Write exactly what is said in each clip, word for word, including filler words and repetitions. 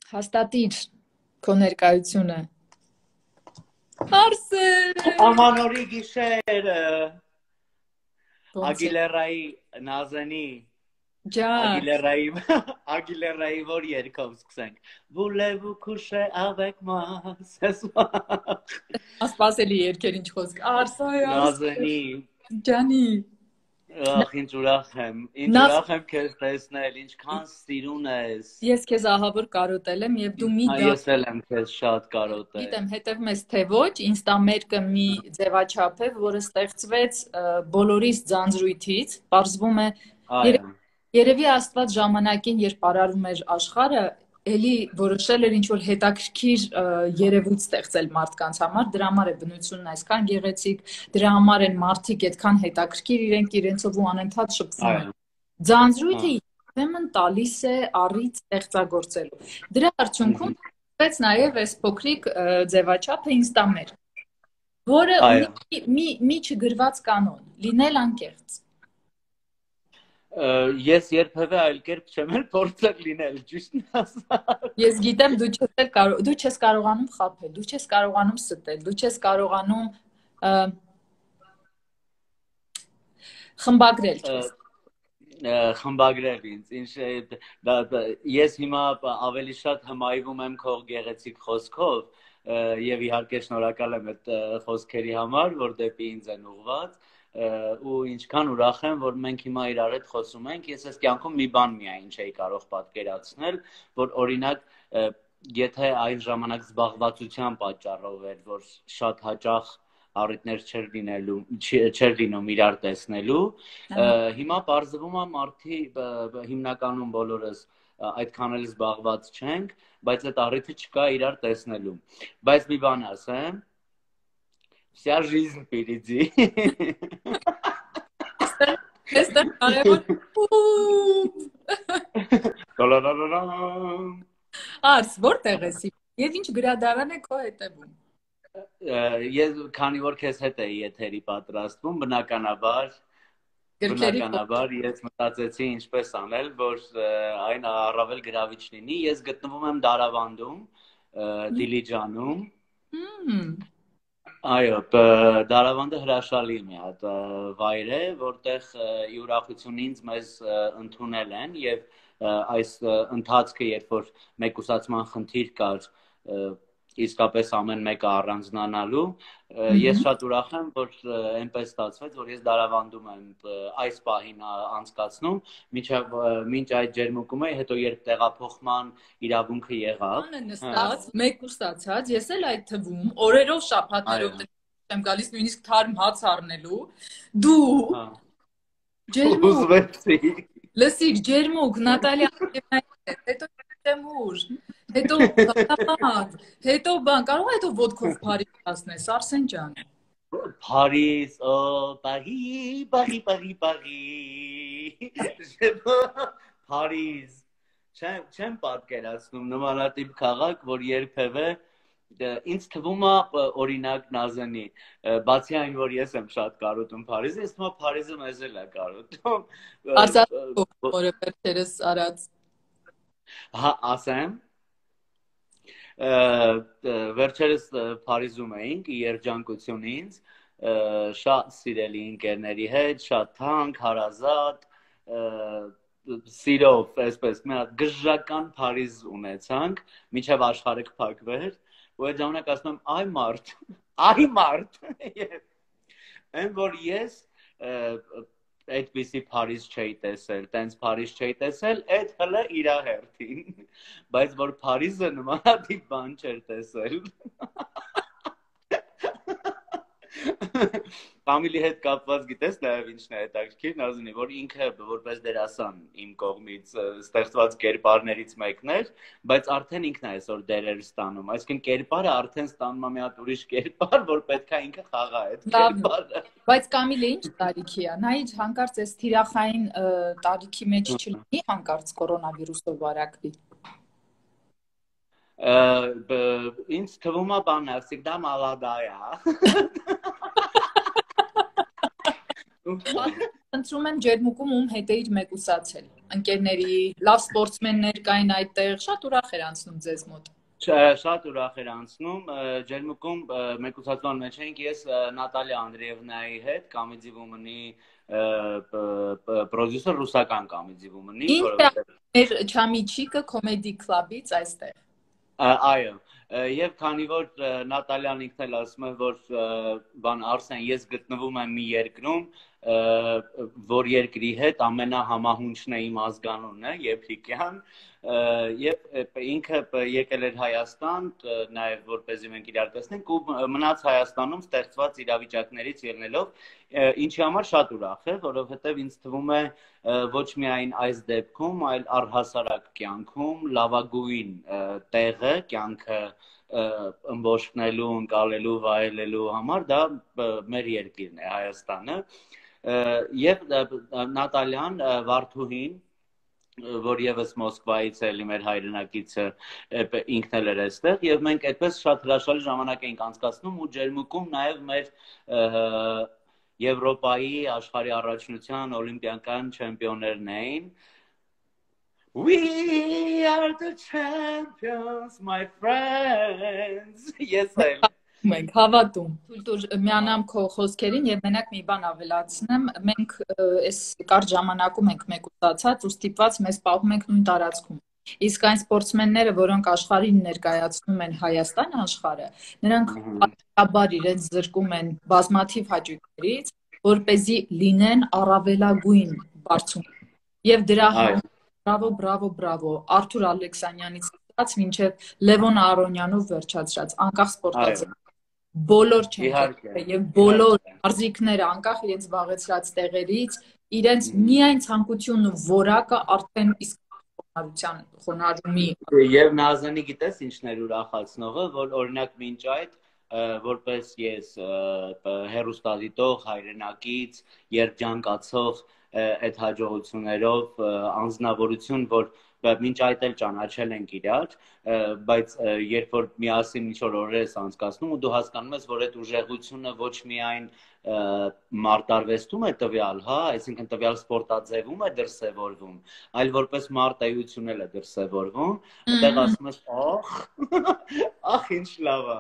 Հաստատիր քո ներկայությունը։ Արսեն։ Ամանորի գիշերը։ Ագիլերայի Նազանի Ագիլերայի Ագիլերայի որ երկով սկսենք։ Voulez-vous coucher avec moi ce soir։ Ասպասելի երկեր ինչ խոսք։ Արսայ Նազանի ջանի։ Ախ ինչ ուրախ եմ։ Ինչ ուրախ եմ քեզ տեսնել, ինչքան սիրուն ես։ Ես քեզ ահավոր կարոտել եմ եւ դու մի Ես էլ եմ քեզ շատ կարոտել։ Գիտեմ, հետևում ես թե ոչ, Ինստամերկը մի ձևաչափ է, որը ստեղծվեց բոլորիս ձանձրույթից, պարզվում է երևի Աստված ժամանակին, երբ արարում էր աշխարհը, էլի որոշել էր ինչ-որ հետաքրքիր երևույթ ստեղծել մարդկանց համար, դրա համար է բնությունն այսքան գեղեցիկ, դրա համար են մարդիկ այդքան հետաքրքիր, իրենք իրենցով ու անընդհատ շփվում են։ Ձանձրույթը ուրեմն տալիս է առիթ ստեղծագործելու։ Դրա արդյունքում Բայց նաև այս փոքրիկ ձևաչափը Ինստամերկ, որը ունի մի մի չգրված կանոն՝ լինել անկեղծ։ Ես երբևէ այլ կերպ չեմ էլ փորձել լինել, ճիշտն ասած։ Ես գիտեմ, դու չես կարող, դու չես կարողանում խաբել, դու չես կարողանում ստել, դու չես կարողանում խմբագրել քեզ։ Խմբագրել ինձ, ինչ ես հիմա ավելի շատ հմայվում եմ քո գեղեցիկ խոսքով եւ իհարկե շնորհակալ եմ այդ խոսքերի համար, որ դեպի ինձ են ուղղված ու ինչքան ուրախ եմ, որ մենք հիմա իրար հետ խոսում ենք, ես այս կյանքում մի բան միայն չէի կարող պատկերացնել, որ օրինակ եթե այն ժամանակ զբաղվածության պատճառով էր, որ շատ հաճախ առիթներ չեր լինելու, չեր լինում իրար տեսնելու, հիմա պարզվում է մարդի հիմնականում բոլորս այդքան էլ զբաղված չենք, բայց այդ առիթը չկա իրար տեսնելու, բայց մի բան ասեմ, вся жизнь впереди. Այստեղ կարևոր Արս, որտեղ ես եւ ինչ գրադարան է քո հետևում։ Ես քանի որ քեզ հետ էի եթերի պատրաստվում, բնականաբար բնականաբար ես մտածեցի ինչպես անել, որ այն առավել գրավիչ լինի։ Ես գտնվում եմ Դարավանդում, Դիլիջանում։ Այո, Դարավանդը հրաշալի մի հատ վայր է, որտեղ ի ուրախություն ինձ մեզ ընդունել են եւ այս ընթացքը, երբ որ մեկուսացման խնդիր կար, իսկապես ամեն մեկը առանձնանալու, ես շատ ուրախ եմ, որ այնպես ստացվեց, որ ես Դարավանդում եմ այս պահին անցկացնում, մինչ այդ ջերմուկում էի, հետո երբ տեղափոխման իրավունքը եղավ։ Նստած, մեկուսացած, ես էլ այդ թվում, օրերով, շաբաթներով եմ գալիս նույնիսկ թարմ հաց առնելու, դու ջերմուկ, լսիր, ջերմուկ, Նատալիա, հետո Տեմուր, հետո բան, հետո բան, կարող է հետո ոդկով Փարիզ հասնես, Արսեն ջան։ Փարիզ, օ, Պարի, Պարի, Պարի, Պարի։ Փարիզ։ Չեմ պատկերացնում նմանատիպ քաղաք, որ երբևէ ինձ թվում է օրինակ Նազանի, բացի այն, որ ես եմ շատ կարոտում Փարիզը, ես թվում է Փարիզը մեզ էլ է կարոտում։ Արսաթ, որը վերջերս արած։ Հա, ասեմ, վերջերս Փարիզում էինք, երջանկություն ինձ, շատ սիրելի ընկերների հետ, շատ թանկ, հարազատ, սիրով, այսպես, մի հատ գժական Փարիզ ունեցանք, մինչև աշխարհը կփակվեր, ու այդ ժամանակ ասում եմ, այ մարդ, այ մարդ, այն որ ես այդպիսի Փարիզ չէի տեսել, տենց Փարիզ չէի տեսել, այդ հլը իրա հերթին, բայց որ Փարիզը նմանատիպ բան չէր տեսել։ Ֆամիլի հետ կապված գիտես նաև ինչն է հետաքրքիր, Նազանի, որ ինքը որպես դերասան իմ կողմից ստեղծված կերպարներից մեկն էր, բայց արդեն ինքն է այսօր դերեր ստանում, այսինքն կերպարը արդեն ստանում է մի հատ ուրիշ կերպար, որ պետք է ինքը խաղա այդ կերպարը։ Բայց Կամիլը ինչ տարիքի է, նա ինչ հանկարծ այս թիրախային տարիքի մեջ չլինի, հանկարծ կորոնավիրուսով վարակվի։ Ինձ թվում է բան է, всегда молодая։ Խնդրում եմ ջերմուկում ում հետ էիր մեկուսացել։ Ընկերների, լավ սպորտսմեններ կային այդտեղ, շատ ուրախ էր անցնում ձեզ մոտ։ Շատ ուրախ էր անցնում, ջերմուկում մեկուսացման մեջ էինք ես Նատալիա Անդրեևնայի հետ, Comedy Woman-ի պրոդյուսեր, ռուսական Comedy Woman-ի, որովհետեւ մեր Չամիչիկը Comedy Club-ից այստեղ։ Այո, եւ քանի որ Նատալիան ինքն էլ ասում է, որ բան Արսեն, ես գտնվում եմ մի երկրում, որ երկրի հետ ամենահամահունչն է իմ ազգանունն է, Եփրիկյան, եւ ինքը եկել էր Հայաստան, նաեւ որպեսզի մենք իրար տեսնենք ու մնաց Հայաստանում ստեղծված իրավիճակներից ելնելով, ինչի համար շատ ուրախ է, որովհետեւ ինձ թվում է ոչ միայն այս դեպքում, այլ առհասարակ կյանքում լավագույն տեղը, կյանքը ըմբոշխնելու, ընկալելու, վայելելու համար դա մեր երկիրն է, Հայաստանը, եւ Նատալիան Վարդուհին, որ եւս Մոսկվայից է, մեր հայրենակիցը ինքն էլ էր այստեղ, եւ մենք այդպես շատ հրաշալի ժամանակ էինք անցկացնում ու ջերմուկում նաեւ մեր Եվրոպայի աշխարհի առաջնության օլիմպիական չեմպիոններն էին։ We are the champions, my friends. Yes, I Մենք հավատում։ Թույլ միանամ քո խոսքերին եւ մենակ մի բան ավելացնեմ, մենք այս կարճ ժամանակում ենք մեկուսացած ու ստիպված մեզ պահում ենք նույն տարածքում։ Իսկ այն սպորտսմենները, որոնք աշխարհին ներկայացնում են Հայաստան աշխարհը, նրանք պատահաբար իրենց զրկում են բազմաթիվ հաճույքներից, որպեսզի լինեն առավելագույն բարձում։ Եվ դրա համար բրավո, բրավո, բրավո, Արթուր Ալեքսանյանից ստացած մինչև Լևոն Արոնյանով վերջացրած, անկախ սպորտաձև բոլոր չեմպիոնները եւ բոլոր մարզիկները անկախ իրենց զբաղեցրած տեղերից իրենց միայն ցանկությունն ու որակը արդեն իսկ խոնարհության խոնարհումի եւ Նազանի գիտես ինչն էր ուրախացնողը, որ օրինակ մինչ այդ որպես ես հերոստատիտող հայրենակից երջանկացող այդ հաջողություններով անձնավորություն, որ մինչ այդ էլ ճանաչել ենք իրար, բայց երբ որ միասին ինչ-որ օրեր ես անցկացնում ու դու հասկանում ես, որ այդ ուժեղությունը ոչ միայն մարտարվեստում է տվյալ, հա, այսինքն տվյալ սպորտաձևում է դրսևորվում, այլ որպես մարտահայություն էլ է դրսևորվում, այդտեղ ասում ես, ախ, ախ, ինչ լավ է։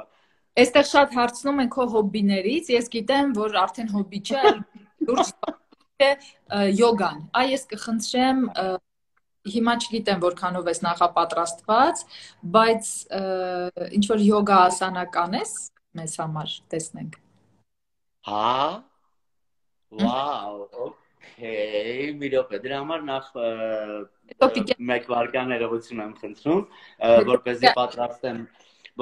Այստեղ շատ հարցնում են քո հոբբիներից, ես գիտեմ, որ արդեն հոբբի չէ, այլ լուրջ յոգան։ Այ ես կխնդրեմ Հիմա չգիտեմ որքանով ես նախապատրաստված, բայց ինչ որ յոգա ասանական ես մեզ համար տեսնենք։ Հա։ Վաու, օքեյ, մի րոպե, դրա համար նախ մեկ վայրկյան ներողություն եմ խնդրում, որպեսզի պատրաստեմ,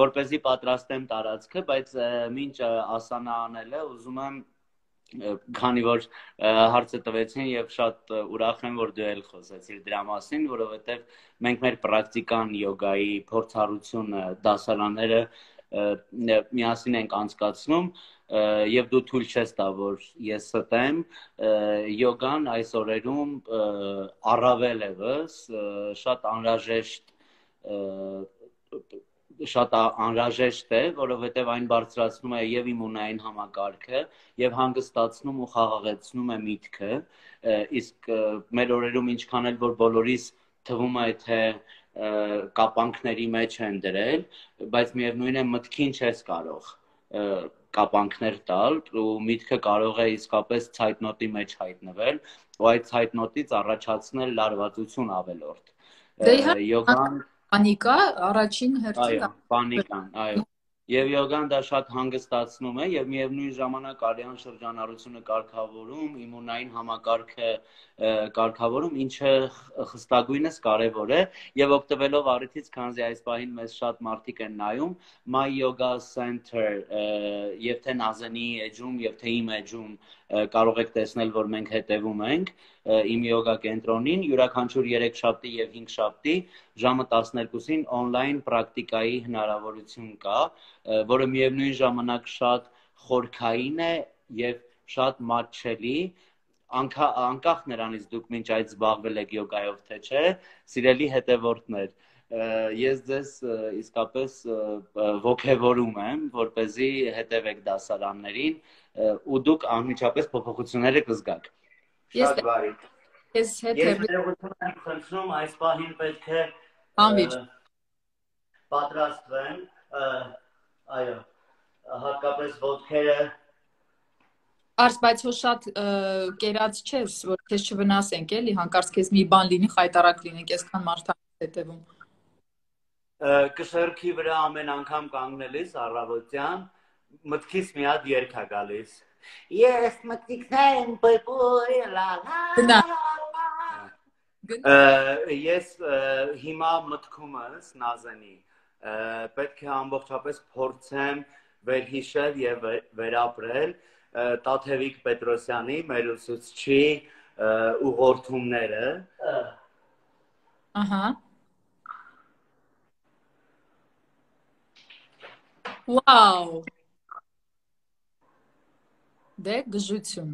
որպեսզի պատրաստեմ տարածքը, բայց մինչ ասանա անելը ուզում եմ քանի որ հարցը տվեցին եւ շատ ուրախ եմ որ դու էլ խոսեցիր դրա մասին, որովհետեւ մենք մեր պրակտիկան յոգայի փորձառությունը դասարանները միասին ենք անցկացնում եւ դու թույլ չես տա որ ես ստեմ յոգան այս օրերում առավել եւս շատ անհրաժեշտ շատ անհրաժեշտ է, որովհետև այն բարձրացնում է եւ իմունային համակարգը եւ հանգստացնում ու խաղաղեցնում է միտքը, իսկ մեր օրերում ինչքան էլ որ բոլորիս թվում է թե կապանքների մեջ են դրել, բայց միևնույն է մտքին չես կարող կապանքներ տալ ու միտքը կարող է իսկապես ցայտնոտի մեջ հայտնվել ու այդ ցայտնոտից առաջացնել լարվածություն ավելորդ։ Յոգան Պանիկա առաջին հերթին Այո, պանիկան, այո։ Եվ յոգան դա շատ հանգստացնում է եւ միևնույն ժամանակ արյան շրջանառությունը կարգավորում, իմունային համակարգը կարգավորում, ինչը խստագույնս կարեւոր է եւ օգտվելով առիթից, քանզի այս պահին մեզ շատ մարդիկ են նայում, My Yoga Center եւ թե Նազանի էջում եւ թե իմ էջում կարող եք տեսնել, որ մենք հետևում ենք իմ յոգա կենտրոնին, յուրաքանչյուր երեքշաբթի եւ հինգշաբթի ժամը տասներկուսին on-line պրակտիկայի հնարավորություն կա, որը միևնույն ժամանակ շատ խորքային է եւ շատ մատչելի, անկախ նրանից դուք մինչ այդ զբաղվել եք յոգայով թե չէ, սիրելի հետևորդներ, ես ձեզ իսկապես ոգևորում եմ, որպեսզի հետևեք դասարաններին ու դուք անմիջապես փոփոխությունները կզգաք։ Շատ բարի։ Ես հետ Ես ներողություն եմ խնդրում, այս պահին պետք է Անվիճ պատրաստվեն, այո, հատկապես ոտքերը Արս, բայց հո շատ կերած չես, որ քեզ չվնասենք, էլի, հանկարծ քեզ մի բան լինի, խայտարակ լինենք, այսքան մարդկանց հետևում։ Կշերքի վրա ամեն անգամ կանգնելիս առավոտյան մտքից մի հատ երգ է գալիս։ Ես մտքիքներ եմ պրպուր լա Ես հիմա մտքումս Նազենի պետք է ամբողջապես փորձեմ վերհիշել եւ վերապրել Տաթևիկ Պետրոսյանի մեր ուսուցչի ուղղորդումները։ Ահա։ Վաու։ Դե գժություն։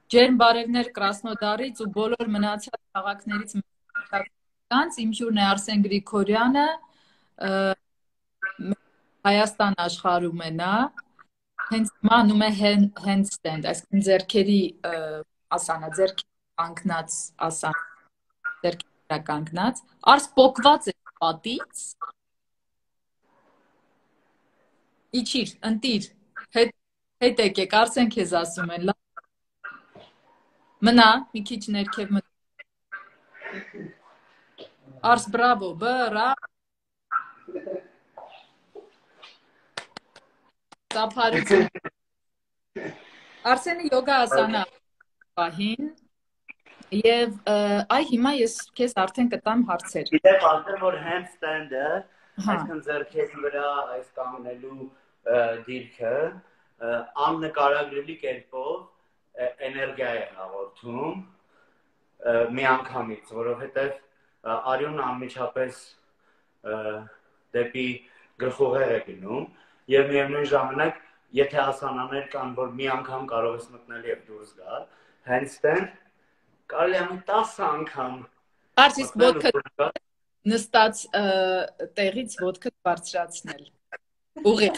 Ջերմ բարևներ Կրասնոդարից ու բոլոր մնացած քաղաքներից կանց իմ հյուրն է Արսեն Գրիգորյանը, Հայաստան աշխարհում է նա, հենց անում է handstand, այսինքն ձեռքերի ասանա, ձեռքի կանգնած ասանա, ձեռքի կանգնած, Արս պոկված է պատից, իջիր, ընտիր, հետ եկեք, Արսեն քեզ ասում են, մնա, մի քիչ ներքև մնա, Արս բրավո, բրա, Ծափարություն, Արսենը յոգա ասանա պահին, և այ հիմա ես քեզ արդեն կտամ հարցեր։ Գիտեք ասեմ, որ handstand-ը, այսքան ձեռքերի վրա այս կանգնելու դիրքը, աննկարագրելի կերպով էներգիա է հաղորդում մի անգամից, որովհետև արյունը անմիջապես դեպի գլխուղեղ է գնում և միևնույն ժամանակ, եթե ասանաներ կան, որ մի անգամ կարող ես մտնել և դուրս գալ, handstand կարելի է տասը անգամ Արս իսկ ոտքը նստած տեղից ոտքը բարձրացնել, ուղիղ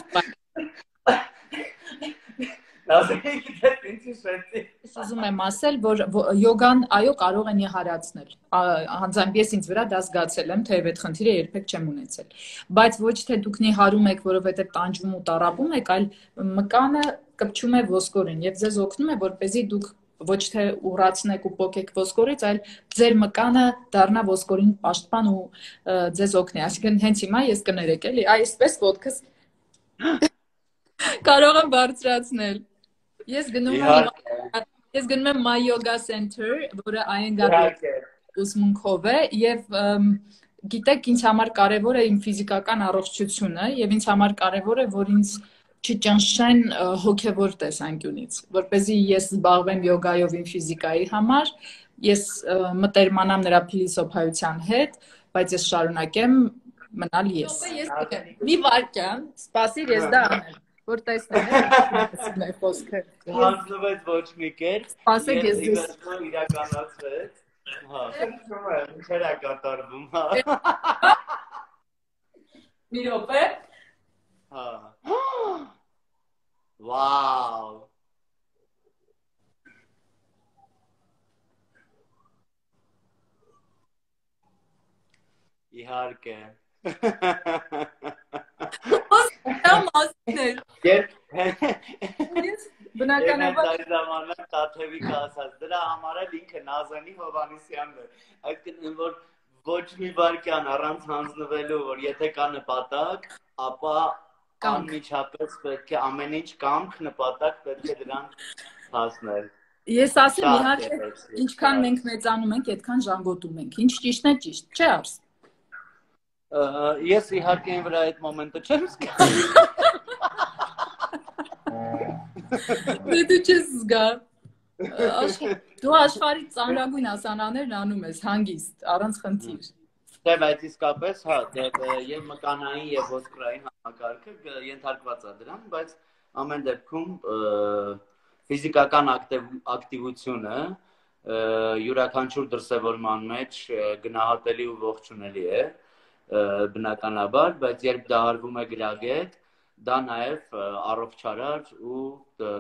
Ես ուզում եմ ասել, որ յոգան այո կարող են իհարացնել, անձամբ ես ինձ վրա դա զգացել եմ, թեև այդ խնդիրը երբեք չեմ ունեցել, բայց ոչ թե դուք նիհարում եք, որովհետև տանջվում ու տառապում եք, այլ մկանը կպչում է ոսկորին և ձեզ օգնում է, որպեսզի դուք ոչ թե ուռացնեք ու պոկեք ոսկորից, այլ ձեր մկանը դառնա ոսկորին պաշտպան ու ձեզ օգնի, այսինքն հենց հիմա ես կներեք էլի, այսպես ոտքս կարող եմ բարձրացնել։ Ես գնում եմ ես գնում եմ My Yoga Center, որը Այենգարի ուսմունքով է եւ գիտեք ինձ համար կարեւոր է իմ ֆիզիկական առողջությունը եւ ինձ համար կարեւոր է որ ինձ չճնշեն հոգեվոր տեսանկյունից, որպեսզի ես զբաղվեմ յոգայով իմ ֆիզիկայի համար, ես մտերմանամ նրա փիլիսոփայության հետ, բայց ես շարունակեմ մնալ ես։ Մի վարքյան, սպասիր ես դա անեմ, որ տեսնեմ է խոսքը։ Հանձնվեց ոչ մի կերպ, Սպասեք ես ձեզ իրականացվեց։ Հա, ինչեր է կատարվում, հա։ Մի րոպե։ Հա։ Վաու։ Իհարկե։ Բնականաբար այս ժամանակ Տաթևիկը ասաց, դրա համար էլ ինքը Նազանի Հովհաննիսյանն է, այսինքն որ ոչ մի վարքյան առանց հանձնվելու, որ եթե կա նպատակ, ապա անմիջապես պետք է ամեն ինչ կամք, նպատակ պետք է դրան հասնել։ Ես ասեմ իհարկե, ինչքան մենք մեծանում ենք, այդքան ժանգոտում ենք, ինչ ճիշտն է ճիշտ, չէ Արս։ Ես իհարկե այն վրա այդ մոմենտը չեմ զգա։ Դե դու չես զգա։ Դու աշխարհի ծանրագույն ասանաներն անում ես հանգիստ, առանց խնդիր։ Դե բայց իսկապես, հա, եւ մկանային եւ ոսկրային համակարգը ենթարկված է դրան, բայց ամեն դեպքում ֆիզիկական ակտիվությունը յուրաքանչյուր դրսևորման մեջ գնահատելի ու ողջունելի է, բնականաբար, բայց երբ դա արվում է գրագետ, դա նաև առողջարար ու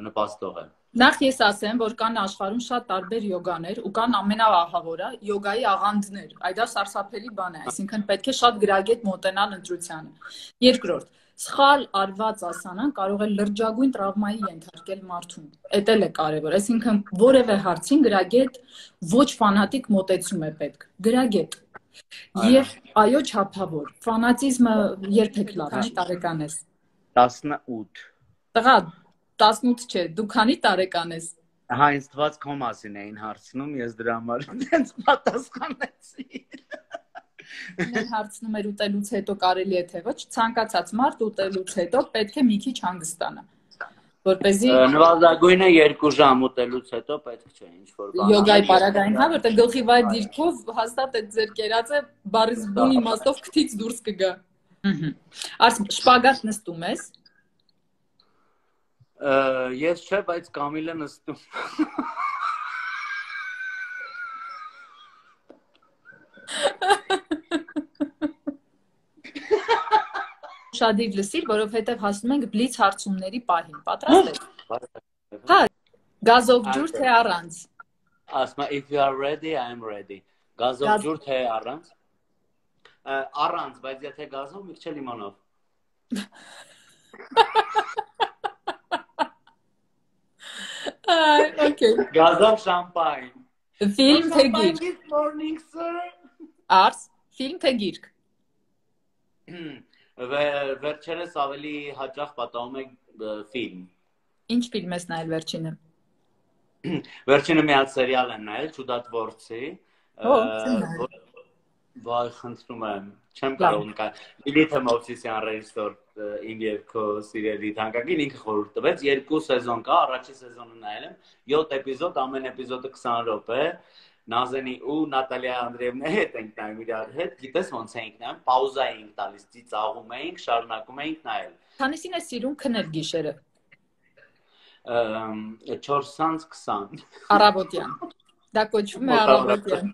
նպաստող է։ Նախ ես ասեմ, որ կան աշխարհում շատ տարբեր յոգաներ ու կան ամենաահավորը յոգայի աղանդներ։ Այդ դա սարսափելի բան է, այսինքն պետք է շատ գրագետ մոտենալ ընտրությանը։ Երկրորդ, սխալ արված ասանան կարող է լրջագույն տրավմայի ենթարկել մարդուն։ Էդ էլ է կարևոր, այսինքն որևէ հարցին գրագետ ոչ ֆանատիկ մոտեցում է պետք։ Գրագետ։ Եվ այո, չափավոր։ Ֆանատիզմը երբեք լավ չի, տարեկան ես։ տասնութ։ Տղա, տասնութ չէ, դու քանի տարեկան ես։ Հա, ինձ թվաց քո մասին էին հարցնում, ես դրա համար այնց պատասխանեցի։ Ինձ հարցնում էր ուտելուց հետո կարելի է թե ոչ, ցանկացած մարդ ուտելուց հետո պետք է մի քիչ հանգստանա, որպեսզի նվազագույնը երկու ժամ ուտելուց հետո պետք չէ ինչ-որ բան։ Յոգայի պարագային, հա, որտեղ գլխի վայր դիրքով հաստատ այդ ձեր կերածը բառից բուն իմաստով քթից դուրս կգա։ Արս շպագատ նստում ես։ Ես չէ, բայց Կամիլը նստում։ Շադիր լսիր, որովհետև հասնում ենք բլից հարցումների պահին։ Պատրաստ ես։ Հա, գազով ջուր թե առանց։ Ասма if you are ready, I am ready։ Գազով ջուր թե առանց։ Առանց, բայց եթե գազով մի քիչ լիմոնով։ Այ, okay։ Գազով շամպայն։ Ֆիլմ թե գիրք։ Good morning, sir։ Արս, ֆիլմ թե գիրք։ Վերջերս ավելի հաճախ պատահում է ֆիլմ։ Ինչ ֆիլմ ես նայել վերջինը։ Վերջինը մի հատ սերիալ եմ նայել, Չուդատվորցի։ Վայ, խնդրում եմ, չեմ կարող նկար։ Լիլիթ Մովսիսյան ռեժիսոր իմ եւ քո սիրելի թանկագին ինքը խորհուրդ տվեց, երկու սեզոն կա, առաջի սեզոնը նայել եմ, յոթ էպիզոդ, ամեն էպիզոդը քսան րոպե։ Նազենի ու Նատալիա Անդրեևնայի հետ ենք նայում իրար հետ, գիտես ոնց էինք նայում, պաուզա էինք տալիս, ծիծաղում էինք, շարունակում էինք նայել։ Քանիսին է սիրում քնել գիշերը։ չորս քսան։ Առավոտյան։ Դա կոչվում է առավոտյան։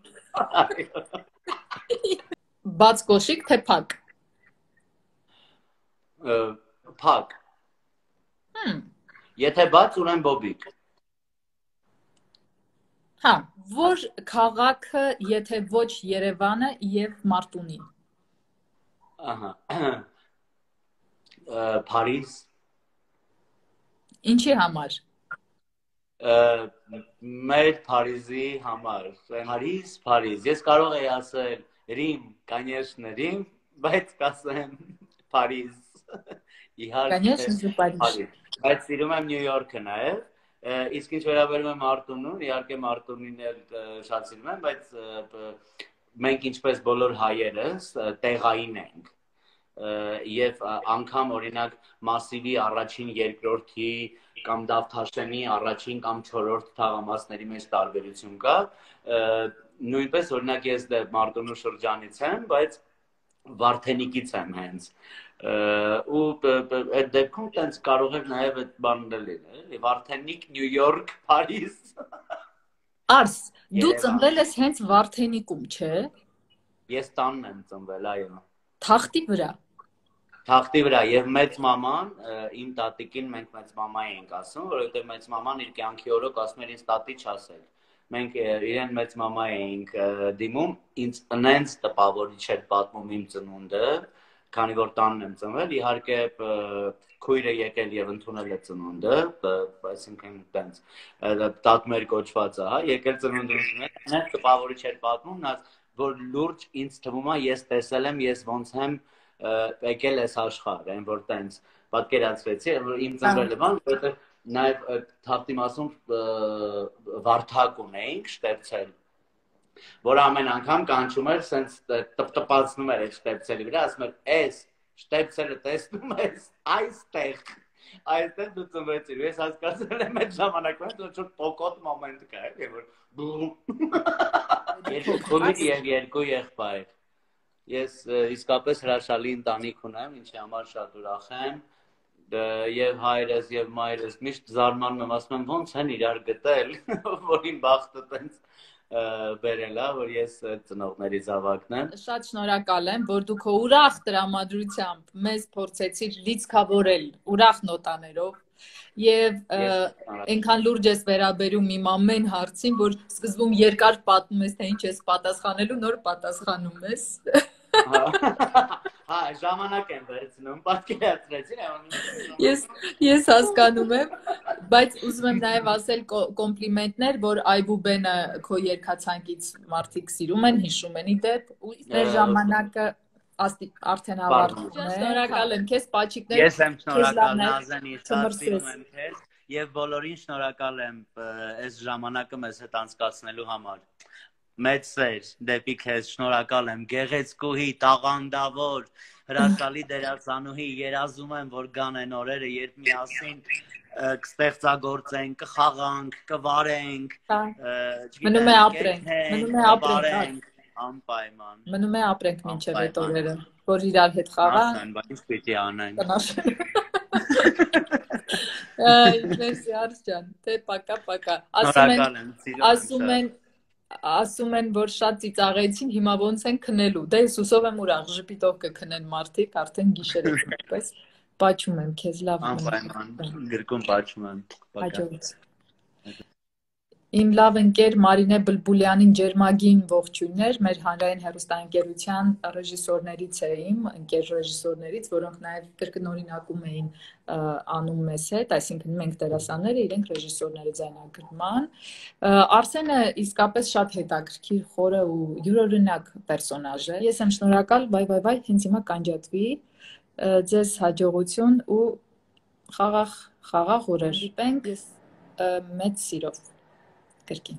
Բաց կոշիկ թե փակ։ Փակ։ Եթե բաց, ուրեմն բոբիկ։ Հա, որ քաղաքը, եթե ոչ Երևանը եւ Մարտունին։ Ահա։ Փարիզ։ Ինչի համար։ Մեր Փարիզի համար։ Փարիզ, Փարիզ։ Ես կարող եի ասել Ռիմ, конечно, Ռիմ, բայց կասեմ Փարիզ։ Իհարկե։ Конечно, Փարիզ։ Բայց սիրում եմ Նյու Յորքը նաև։ Իսկ ինչ վերաբերում է Մարտունուն, իհարկե Մարտունին էլ շատ սիրում եմ, բայց մենք ինչպես բոլոր հայերս տեղային ենք։ Եվ անգամ օրինակ Մասիվի առաջին, երկրորդի կամ Դավթաշենի առաջին կամ չորրորդ թաղամասների մեջ տարբերություն կա։ Նույնպես օրինակ ես դե Մարտունու շրջանից եմ, բայց Վարդենիկից եմ հենց։ Ու այդ դեպքում տենց կարող եք նաև այդ բանն լինել, էլի Վարդենիկ, Նյու Յորք, Փարիզ։ Արս, դու ծնվել ես հենց Վարդենիկում, չէ։ Ես տանն եմ ծնվել, այո։ Թախտի վրա։ Թախտի վրա եւ մեծ մաման, իմ տատիկին մենք մեծ մամա էինք ասում, որովհետեւ մեծ մաման իր կյանքի օրոք ասում էր ինձ տատի չասել։ Մենք իրեն մեծ մամա էինք դիմում, ինձ ընենց տպավորիչ էր պատմում իմ ծնունդը, քանի որ տանն եմ ծնվել, իհարկե քույրը եկել եւ ընդունել է ծնունդը, այսինքն տենց տատմեր կոչվածը, հա, եկել ծնունդը ընդունել, ընենց տպավորիչ էր պատմում, նա որ լուրջ ինձ թվում է ես տեսել եմ, ես ոնց եմ եկել այս աշխարհ, այն որ տենց պատկերացրեցի, իմ ծնվելը բան, որովհետեւ նաև թախտի մասում վարդակ ունեինք շտեպցել, որ ամեն անգամ կանչում էր, սենց տպտպացնում էր այդ շտեպցելի վրա, ասում էր, էս շտեպցելը տեսնում ես, այստեղ, այստեղ դու ծնվեցիր, ես հասկացել եմ այդ ժամանակում, որ ինչ-որ պոկոտ մոմենտ կա, էլի, որ երկու քույր եւ երկու եղբայր։ Ես իսկապես հրաշալի ընտանիք ունեմ, ինչի համար շատ ուրախ եմ։ Եվ հայրս եւ մայրս միշտ զարմանում եմ, ասում եմ ոնց են իրար գտել, որ իմ բախտը տենց բերել, որ ես ծնողների զավակն եմ։ Շատ շնորհակալ եմ, որ դու քո ուրախ տրամադրությամբ մեզ փորձեցիր լիցքավորել ուրախ նոտաներով եւ այնքան լուրջ ես վերաբերում իմ ամեն հարցին, որ սկզբում երկար պատմում ես, թե ինչ ես պատասխանելու, նոր պատասխանում ես։ Հա, ժամանակ եմ վերցնում, պատկերացրեցին, Ես ես հասկանում եմ, բայց ուզում եմ նաև ասել կոմպլիմենտներ, որ Այբուբենը քո երկացանկից մարդիկ սիրում են, հիշում են իդեպ, ու մեր ժամանակը արդեն ավարտվում է։ Շնորհակալ եմ քեզ, պաչիկներ։ Ես եմ շնորհակալ Նազանի, շատ սիրում եմ քեզ եւ բոլորին շնորհակալ եմ այս ժամանակը մեզ հետ անցկացնելու համար։ Մեծ սեր դեպի քեզ, շնորհակալ եմ, գեղեցկուհի, տաղանդավոր, հրաշալի դերասանուհի, երազում եմ, որ գան այն օրերը, երբ միասին կստեղծագործենք, կխաղանք, կվարենք, մնում է ապրենք, մնում է ապրենք, անպայման։ Մնում է ապրենք մինչև այդ օրերը, որ իրար հետ խաղանք։ Ասեն, բայց պիտի անենք։ Մերսի Արս ջան, թե պակա պակա։ Շնորհակալ եմ, ասում են Ասում են, որ շատ ծիծաղեցին, հիմա ոնց են քնելու։ Դե ես հուսով եմ ուրախ, ժպիտով կքնեն մարդիկ, արդեն գիշեր է, պես պաչում եմ քեզ, լավ։ Անպայման, գրկում պաչում եմ։ Հաջողություն։ Իմ լավ ընկեր Մարինե Բլբուլյանին ջերմագին ողջույններ, մեր հանրային հեռուստաընկերության ռեժիսորներից է իմ, ընկեր ռեժիսորներից, որոնք նաև կրկնօրինակում էին անում մեզ հետ, այսինքն մենք դերասանները, իրենք ռեժիսորները ձայնագրման։ Արսենը իսկապես շատ հետաքրքիր, խորը ու յուրօրինակ պերսոնաժ է։ Ես եմ շնորհակալ, վայ վայ վայ, հենց հիմա կանջատվի, ձեզ հաջողություն ու խաղաղ խաղաղ օրեր։ Դիպենք մեծ սիրով։ Կրկին։